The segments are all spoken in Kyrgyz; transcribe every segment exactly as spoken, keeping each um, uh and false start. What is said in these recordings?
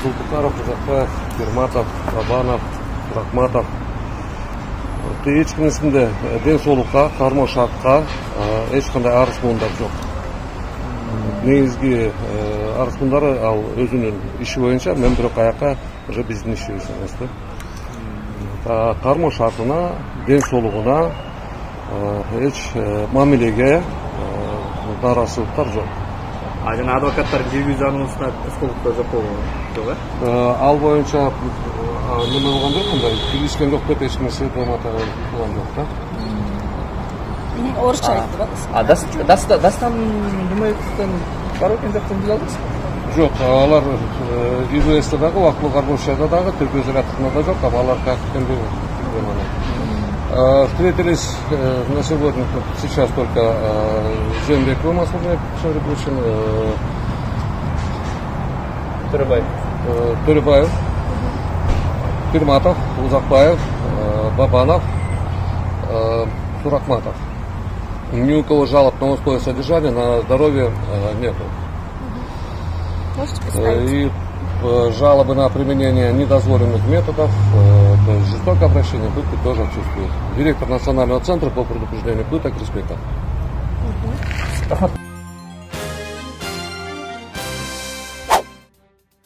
Зулпукаров, Узакбаев, Пирматов, Бабанов, Рахматов. Эч кимисинде ден соолукка, кармо шартка эч кандай арыз муундар жок. Негизги арыз муундары ал өзүнүн иши боюнча, мен бирок аяка уже биздин ишибиз эмес да. Кармо шартына, ден соолугуна эч мамилеге нараазычылыктар жок. А жана адвокаттар киргизүү заносуна тоскоолдуктар жок болбу э? Ал боюнча неме болгон жок, мындай киргизген жок деп эч нерсе драмата кылган жок да. Орусча айтты ба? А Дастан Жумаевден бар экен жактан биле аласызбы? Жок, алар ИВСда дагы, Вакылуу Кармошияда дагы, Түркү Зарядкында да жок, алар кактен билбейм. Встретились на сегодня, сейчас только Жээнбекова Масылбек Шариповичем, Төрөбаев, Төрөбаев, Пирматов, Узакбаев, Бабанов, Сурахматов. Ни у кого жалоб на условия содержания, на здоровье нету. Можете представить? И жалобы на применение недозволенных методов, то есть жестокое обращение, пытки тоже отсутствует. Директор Национального центра по предупреждению пыток Респекта.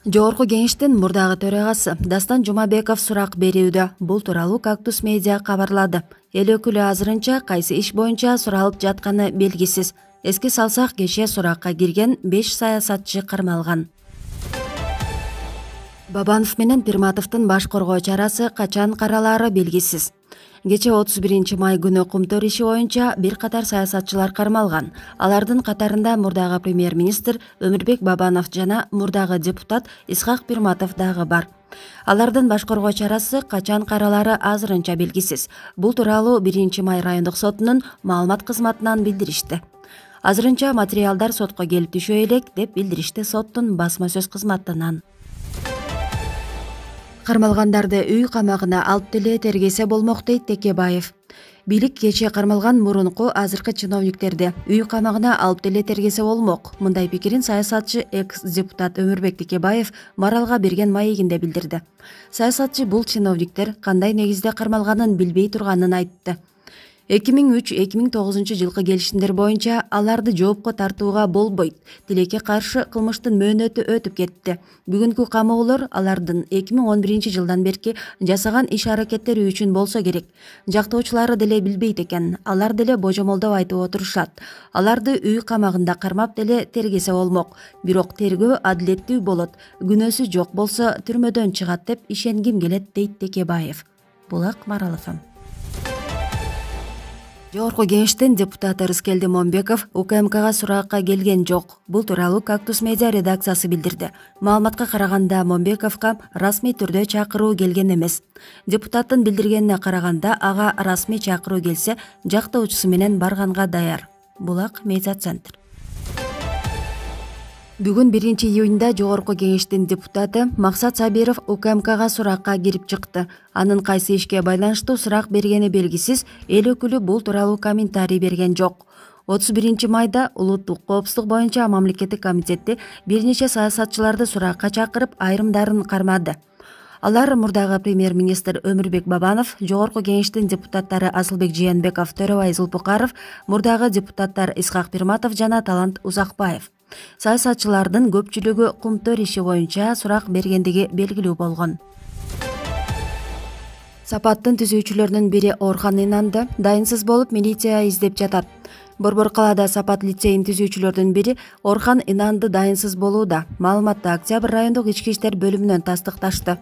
Жогорку кеңештин мурдагы төрагасы Дастан Жумабеков сурак берүүдө. Бул тууралуу Кактус медиа кабарлады. Эл өкүлү азырынча кайсы иш боюнча суралып жатканы белгисиз. Эске салсак, кечээ суракка кирген беш саясатчы кармалган. Бабанов менен Пирматовдун баш коргоо чарасы качан каралаары белгисиз. Кечээ отуз биринчи май күнү Кумтөр иши боюнча бир катар саясатчылар кармалган. Алардын катарында мурдагы премьер-министр Өмүрбек Бабанов жана мурдагы депутат Исхак Пирматов дагы бар. Алардын баш коргоо чарасы качан каралаары азырынча белгисиз. Бул тууралуу биринчи май райондук сотунун маалымат кызматынан билдиришти. Азырынча материалдар сотко келип түшө элек деп билдиришти соттун басма сөз кызматынан. Кармалгандарды үй камагына алып деле тергесе болмок дейт Текебаев. Бийлик кечээ кармалган мурунку азыркы чиновниктерди үй камагына алып деле тергесе болмок. Мындай пикирин саясатчы экс-депутат Өмүрбек Текебаев Маралга берген маегинде билдирди. Саясатчы бул чиновниктер кандай негизде кармалганын билбей турганын айтты. эки миң үч эки миң тогузунчу жылкы келишимдер боюнча аларды жоопко тартууга болбойт. Тилекке каршы кылмыштын мөөнөтү өтүп кетти. Бүгүнкү камоолор алардын эки миң он биринчи жылдан берки жасаган иш-аракеттери үчүн болсо керек. Жактоочулары деле билбейт экен. Алар деле божомолдоп айтып отурушат. Аларды үй камагында кармап деле тергесе болмок. Бирок тергөө адилеттүү болот. Күнөөсү жок болсо түрмөдөн чыгат деп ишенгим келет дейт Текебаев. Булак Маралов. Жогорку кеңештин депутаты Рыскелди Момбеков УКМКга суракка келген жок. Бул тууралуу Кактус медиа редакциясы билдирди. Маалыматка караганда Момбековго расмий түрдө чакыруу келген эмес. Депутаттын билдиргенине караганда ага расмий чакыруу келсе, жактоочусу менен барганга даяр. Булак медиа центр. Бүгүн биринчи июнда Жогорку кеңештин депутаты Максат Сабиров УКМКга суракка кирип чыкты. Анын кайсы ишке байланыштуу сурак бергени белгисиз, эл өкүлү бул тууралуу комментарий берген жок. отуз биринчи майда улуттук коопсуздук боюнча мамлекеттик комитети бир нече саясатчыларды суракка чакырып, айрымдарын кармады. Алар мурдагы премьер-министр Өмүрбек Бабанов, Жогорку кеңештин депутаттары Асылбек Жээнбеков, Төрөбай Зулпукаров, мурдагы депутаттар Исхак Пирматов жана Талант Узакбаев. Саясатчылардын көпчүлүгү Кумтөр иши боюнча сурак бергендиги белгилүү болгон. Сапаттын түзүүчүлөрүнүн бири Орхан Инанды дайынсыз болуп милиция издеп жатат. Борбор калаада Сапат лицейин түзүүчүлөрдүн бири Орхан Инанды дайынсыз болууда. Маалыматты Октябрь райондук ички иштер бөлүмүнөн тастыкташты.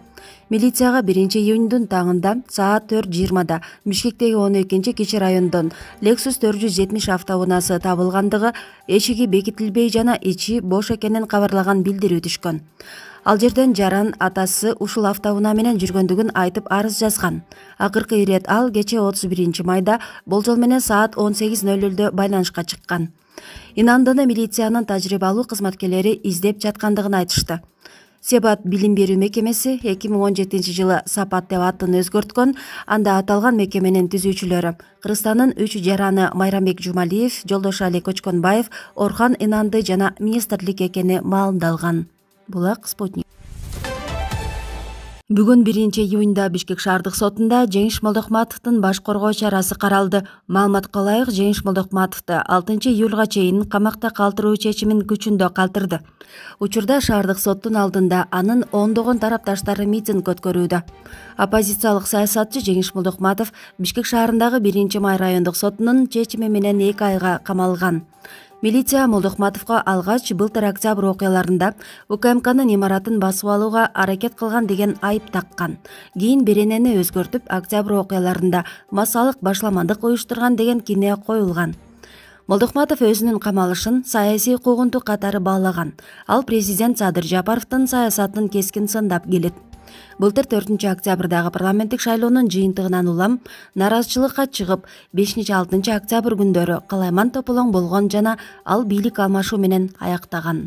Милицияга биринчи июньдун таңында саат төрт жыйырмада Бишкектеги он экинчи кичи райондон Lexus төрт жүз жетимиш автоунаасы табылгандыгы, эшиги бекитилбей жана ичи бош экенин кабарлаган билдирүү түшкөн. Ал жерден жаран атасы ушул автоунаа менен жүргөндүгүн айтып арыз жазган. Акыркы ирет ал кечээ отуз биринчи майда болжол менен саат он сегиз ноль нольдо байланышка чыккан. Инандыны милициянын тажрыйбалуу кызматкерлери издеп жаткандыгын айтышты. Себат билим берүү мекемеси эки миң он жетинчи жылы Сапат деп атын өзгөрткөн. Анда аталган мекеменин түзүүчүлөрү Кыргызстандын үч жараны Майрамбек Жумалиев, Жолдошали Кочконбаев, Орхан Инанды жана министрлик экени маалымдалган. Булак Спутник. Бүгүн биринчи июнда Бишкек шаардык сотунда Жеңиш Молдокматовдун баш коргоо чарасы каралды. Маалыматка ылайык, Жеңиш Молдокматовду алтынчы июлга чейин камакта калтыруу чечимин күчүндө калтырды. Учурда шаардык соттун алдында анын ондогон тарапташтары митинг өткөрүүдө. Оппозициялык саясатчы Жеңиш Молдокматов Бишкек шаарындагы биринчи май райондук сотунун чечими менен эки айга камалган. Милиция Молдокматовго алгач былтыр октябрь окуяларында УКМКнын имаратын басып алууга аракет кылган деген айып таккан. Кийин беренени өзгөртүп, октябрь окуяларында массалык башламандык уюштурган деген кине коюлган. Молдокматов өзүнүн камалышын саясий куугунтук катары баалаган. Ал президент Садыр Жапаровдун саясатын кескин сындап келет. Былтыр төртүнчү октябрдагы парламенттик шайлоонун жыйынтыгынан улам наразычылыкка чыгып, бешинчи алтынчы октябрь күндөрү калайман тополоң болгон жана ал бийлик алмашуу менен аяктаган.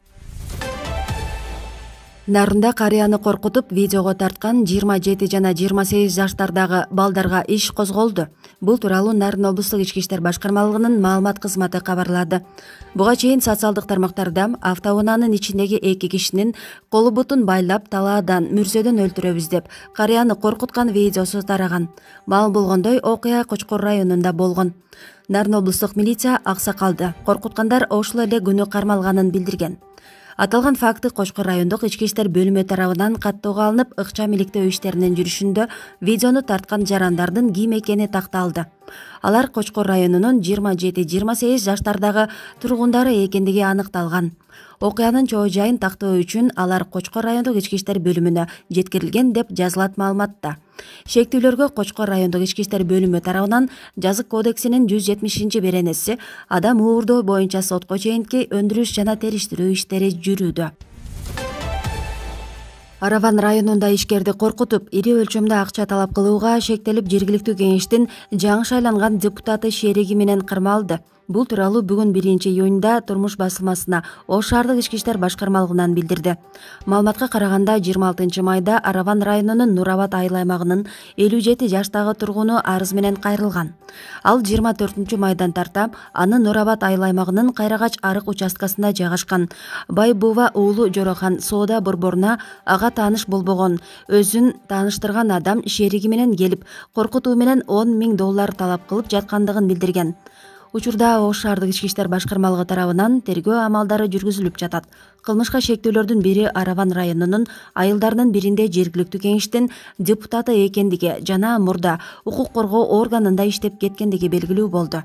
Нарында карыяны коркутуп видеого тарткан жыйырма жети жана жыйырма сегиз жаштардагы балдарга иш козголду. Бул тууралуу Нарын облустук ички иштер башкармалыгынын маалымат кызматы кабарлады. Буга чейин социалдык тармактарда автоунаанын ичиндеги эки кишинин колу бутун байлап талаадан, мүрзөдөн өлтүрөбүз деп карыяны коркуткан видеосу тараган. Маалым болгондой, окуя Кочкор районунда болгон. Нарын облустук милиция аксакалды коркуткандар ошол эле күнү кармалганын билдирген. Аталган факты Кочкор райондук ички иштер бөлүмү тарабынан каттоого алынып, ыкчам иликтөө иштеринин жүрүшүндө видеону тарткан жарандардын ким экени такталды. Алар Кочкор районунун жыйырма жети жыйырма сегиз жаштардагы тургундары экендиги аныкталган. Окуянын чоо жайын тактоо үчүн алар Кочкор райондук ички иштер бөлүмүнө жеткирилген деп жазылат маалыматта. Шектүүлөргө Кочкор райондук ички иштер бөлүмү тарабынан жазык кодексинин жүз жетимишинчи беренеси адам уурдоо боюнча сотко чейинки өндүрүш жана териштирүү иштери жүрүүдө. Араван районунда ишкерди коркутуп, ири өлчөмдө акча талап кылууга шектелип, жергиликтүү кеңештин жаңы шайланган депутаты шериги менен кармалды. Бул тууралуу бүгүн биринчи июнда Турмуш басылмасына Ош шаардык ички иштер башкармалыгынан билдирди. Маалыматка караганда, жыйырма алтынчы майда Араван районунун Нур Абад айыл аймагынын элүү жети жаштагы тургуну арыз менен кайрылган. Ал жыйырма төртүнчү майдан тарта аны Нур Абад айыл аймагынын Кайрагач арык участкасында жайгашкан Байбува уулу Жорохан соода борборуна ага тааныш болбогон өзүн тааныштырган адам шериги менен келип, коркутуу менен он миң доллар талап кылып жаткандыгын билдирген. Учурда Ош шаардык ички иштер башкармалыгы тарабынан тергөө амалдары жүргүзүлүп жатат. Кылмышка шектүүлөрдүн бири Араван районунун айылдарынын биринде жергиликтүү кеңештин депутаты экендиги жана мурда укук коргоо органында иштеп кеткендиги белгилүү болду.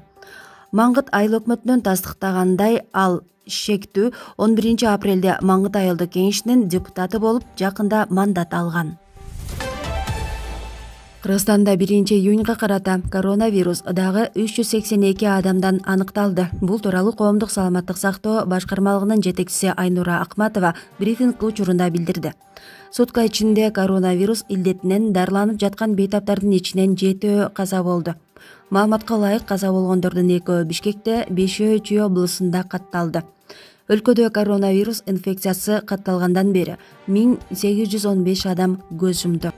Маңгыт айыл өкмөтүнөн тастыктагандай, ал шектүү он биринчи апрелде Маңгыт айылдык кеңешинин депутаты болуп, жакында мандат алган. Кыргызстанда биринчи июнга карата коронавирус дагы үч жүз сексен эки адамдан аныкталды. Бул тууралуу коомдук саламаттык сактоо башкармалыгынын жетекчиси Айнура Акматова брифинг учурунда билдирди. Сутка ичинде коронавирус илдетинен дарыланып жаткан бейтаптардын ичинен жетөө каза болду. Маалыматка ылайык, каза болгондордун экөө Бишкекте, бешөө Чүй облусунда катталды. Өлкөдө коронавирус инфекциясы катталгандан бери миң сегиз жүз он беш адам көз жумду.